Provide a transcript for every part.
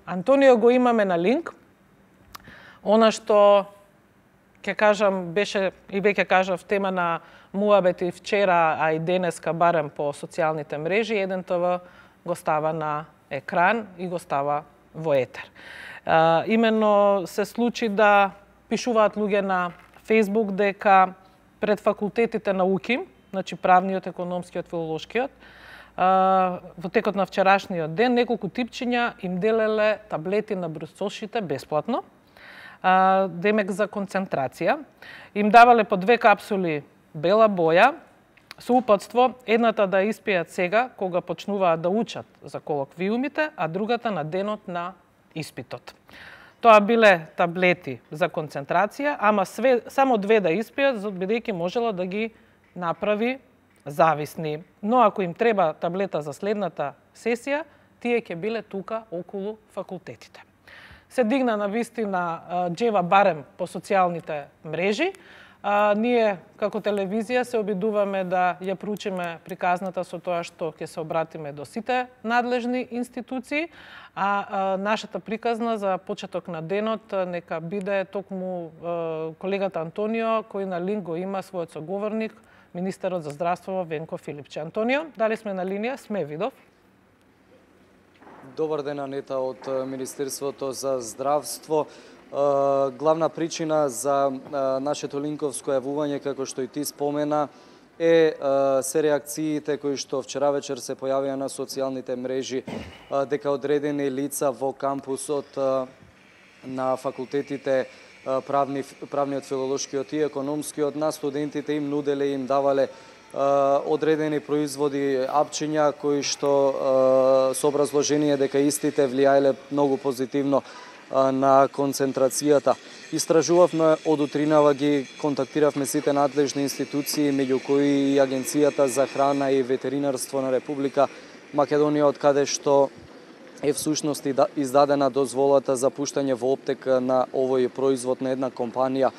Антонио го имаме на линк. Она што ќе кажам беше и веќе кажав тема на муабети вчера, а и денеска барем по социјалните мрежи, еден ТВ го става на екран и го става во етер. Именно се случи да пишуваат луѓе на Facebook дека пред факултетите на УКИМ, значи правниот, економскиот, филолошкиот, во текот на вчерашниот ден неколку типчиња им делеле таблети на брусошите бесплатно, демек за концентрација. Им давале по 2 капсули бела боја, со упатство едната да испијат сега, кога почнуваат да учат за колоквиумите, а другата на денот на испитот. Тоа биле таблети за концентрација, ама само 2 да испијат, бидејќи можела да ги направи зависни. Но ако им треба таблета за следната сесија, тие ќе биле тука околу факултетите. Се дигна на вистина џева барем по социјалните мрежи. Ние, како телевизија, се обидуваме да ја проучиме приказната со тоа што ќе се обратиме до сите надлежни институции, а нашата приказна за почеток на денот нека биде токму колегата Антонио, кој на линк го има својот соговорник, министерот за здравство Венко Филипче. Антонио, дали сме на линија? Сме, видов. Добар ден, Анета, од Министерството за здравство. Главна причина за нашето линковско јавување, како што и ти спомена, се реакциите кои што вчера вечер се појавија на социјалните мрежи, дека одредени лица во кампусот на факултетите правниот, филолошкиот и економскиот на студентите им нуделе и им давале одредени производи, апчиња кои што со образложение дека истите влијаеле многу позитивно на концентрацијата. Истражувавме од утринава, ги контактиравме сите надлежни институции, меѓу кои и Агенцијата за храна и ветеринарство на Република Македонија, од каде што е всушност издадена дозволата за пуштање во оптека на овој производ на една компанија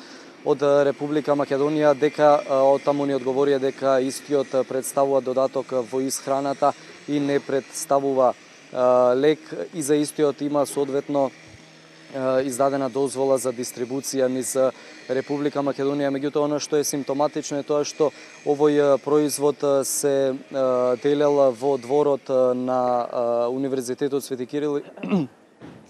од Република Македонија, дека од таму ни одговорија дека истиот представува додаток во исхраната и не представува лек, и за истиот има соодветно издадена дозвола за дистрибуција низ Република Македонија. Меѓутоа, оно што е симптоматично е тоа што овој производ се делел во дворот на Универзитетот Свети Кирил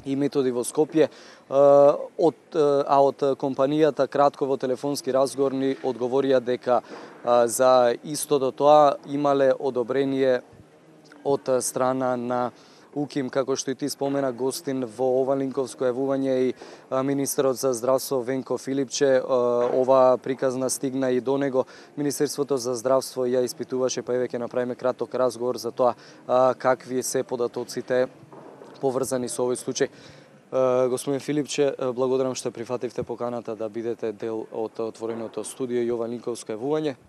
и Методи во Скопје, од компанијата кратко во телефонски разговор ни одговорија дека за истото тоа имале одобрение од страна на УКИМ, како што и ти спомена, гостин во ова линковско јавување и министерот за здравство Венко Филипче. Ова приказна стигна и до него. Министерството за здравство ја испитуваше, па еве ќе направиме краток разговор за тоа какви се податоците поврзани со овој случај. Господин Филипче, благодарам што прифативте поканата да бидете дел од отвореното студио и ова линковско јавување.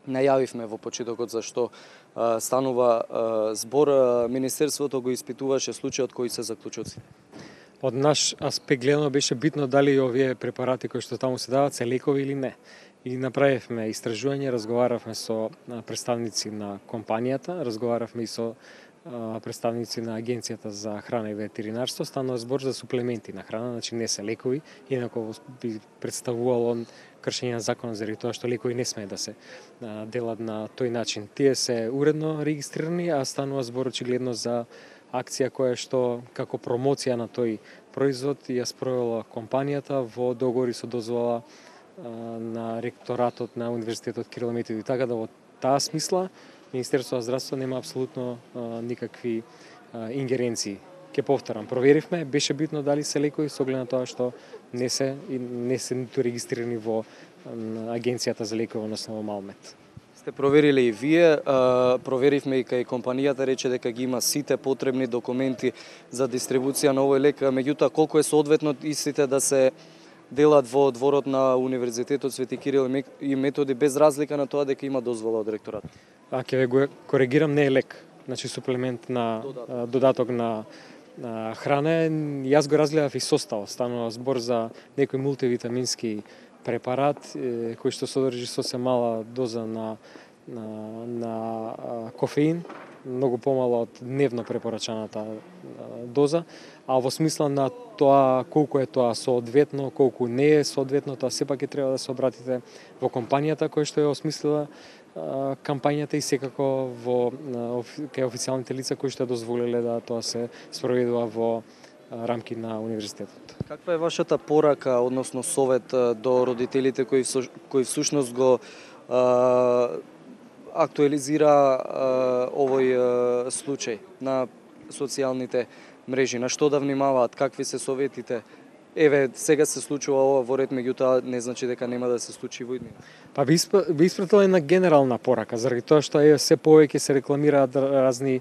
Најавивме во почетокот за што станува збор. Министерството го испитуваше случајот, кои се заклучоци. Од наш аспект гледано беше битно дали овие препарати кои што таму се дават се лекови или не. И направивме истражување, разговаравме со представници на компанијата, разговаравме и со представници на Агенцијата за храна и ветеринарство. Станува збор за суплементи на храна, значи не се лекови, инако би представувало кршење на законот заради тоа што лекови не смее да се делат на тој начин. Тие се уредно регистрирани, а станува збор очигледно за акција која што како промоција на тој производ ја спровела компанијата во договори со дозвола на ректоратот на Универзитетот Кирил и Методи. Така да во таа смисла Министерството за здравство нема апсолутно никакви ингеренции. Ке повторам, проверивме, беше битно дали се лекови со оглед на тоа што не се ниту регистрирани во Агенцијата за лекови, односно во Малмет. Сте провериле и вие, проверивме и кај компанијата, рече дека ги има сите потребни документи за дистрибуција на овој лек, меѓутоа колку е соодветно истите да се делат во дворот на Универзитетот Свети Кирил и Методи без разлика на тоа дека има дозвола од ректорат? Ќе ве го коригирам, не е лек, значи суплемент на додаток на храна. Јас го разгледав и состав, станува збор за некој мултивитамински препарат кој што содржи сосем мала доза на кофеин, многу помала од дневно препорачаната доза, а во смисла на тоа колку е тоа соодветно, колку не е соодветно, тоа сепак ќе треба да се обратите во компанијата која што ја осмислила кампањата и секако кај официјалните лица кои што дозволиле да тоа се спроведува во рамки на универзитетот. Каква е вашата порака, односно совет до родителите кои всушност го актуализира овој случај на социјалните мрежи? На што да внимаваат? Какви се советите? Еве, сега се случува ова во ред, меѓутоа не значи дека нема да се случи во иднина. Па би испратила една генерална порака, заради тоа што се повеќе се рекламираат разни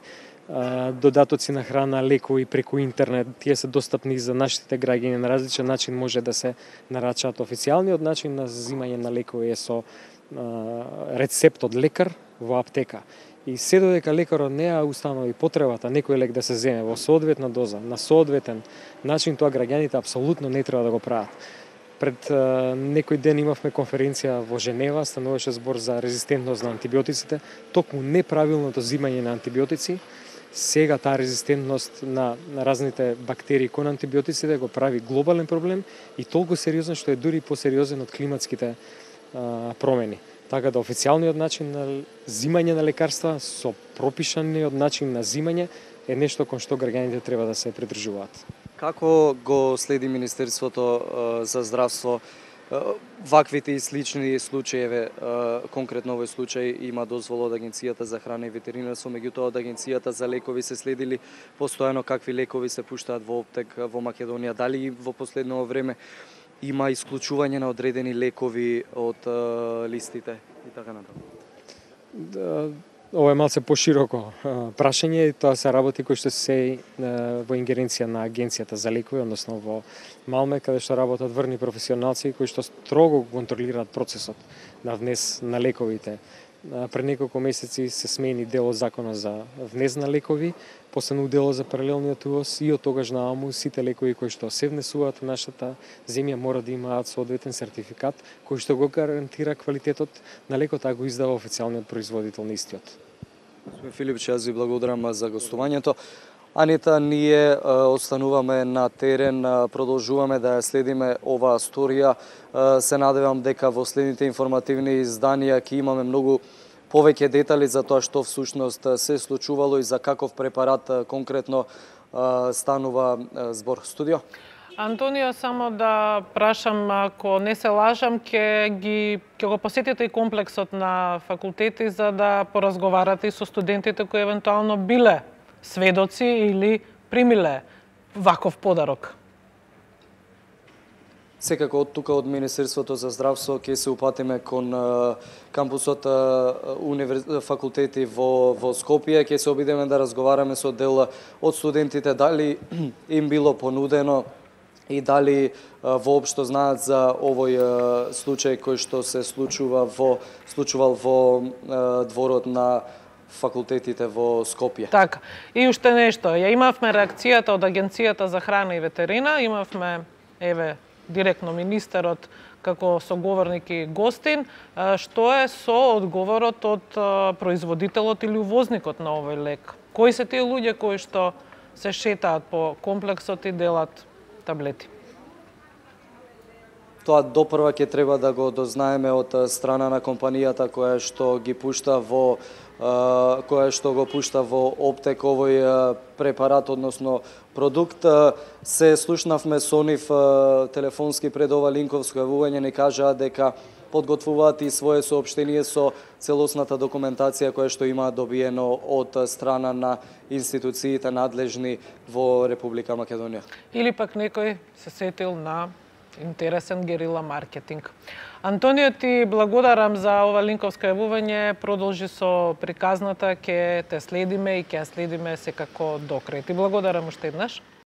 додатоци на храна, лекови преку интернет. Тие се достапни за нашите граѓани на различен начин, може да се нарачаат. Официјалниот начин на взимање на лекови е со рецепт од лекар во аптека. И се додека лекарот не ја установи потребата некој лек да се земе во соодветна доза, на соодветен начин, тоа граѓаните апсолутно не треба да го прават. Пред некој ден имавме конференција во Женева, стануваше збор за резистентност на антибиотиците, токму неправилното взимање на антибиотици. Сега таа резистентност на разните бактерии кон антибиотиците го прави глобален проблем и толку сериозен што е дури посериозен од климатските промени. Така да официјалниот начин на взимање на лекарства со пропишаниот начин на взимање е нешто кон што граѓаните треба да се придржуваат. Како го следи Министерството за здравство ваквите и слични случаи? Конкретно овој случај има дозвола од Агенцијата за храна и ветеринарство, меѓутоа од Агенцијата за лекови се следили постојано какви лекови се пуштаат во оптек во Македонија. Дали во последно време има исклучување на одредени лекови од листите и така натаму? Ова е малце пошироко прашање и тоа се работи кои што се во ингеренција на Агенцијата за лекови, односно во Малме, каде што работат врни професионалци кои што строго контролираат процесот на внес на лековите. Пред неколку месеци се смени дел од законот за внес на лекови, постану дело за паралелниот увоз и од тогаш нааму сите лекови кои што се внесуваат во нашата земја мора да имаат соодветен сертификат кој што го гарантира квалитетот на лекот, а го издава официјалниот производител на истиот. Господин Филипче, јас ви благодарам за гостувањето. Анита, ние остануваме на терен, продолжуваме да ја следиме оваа сторија. Се надевам дека во следните информативни изданија ќе имаме многу повеќе детали за тоа што всушност се случувало и за каков препарат конкретно станува збор. Студио? Антонио, само да прашам, ако не се лажам, ќе го посетите и комплексот на факултети за да поразговарате и со студентите кои евентуално биле сведоци или примиле ваков подарок. Секако од тука од Министерството за здравство ќе се упатиме кон кампусот факултети во Скопје, ќе се обидеме да разговараме со дел од студентите дали им било понудено и дали воопшто знаат за овој случај кој што се случувал во дворот на факултетите во Скопје. Така. И уште нешто, ја имавме реакцијата од Агенцијата за храна и ветерина, имавме директно министерот како соговорник и гостин, што е со одговорот од производителот или увозникот на овој лек? Кои се тие луѓе кои што се шетаат по комплексот и делат таблети? Тоа допрва ќе треба да го дознаеме од страна на компанијата која што го пушта во оптек овој препарат, односно продукт. Се слушнавме со нив телефонски пред ова линковско јавување, не кажаа дека подготвуваат и свое соопштение со целосната документација која што има добиено од страна на институциите надлежни во Република Македонија. Или пак некој се сетил на интересен герила маркетинг. Антонио, ти благодарам за ова линковско јавување. Продолжи со приказната, ќе те следиме и ќе ја следиме секако до крај. Ти благодарам уште еднаш.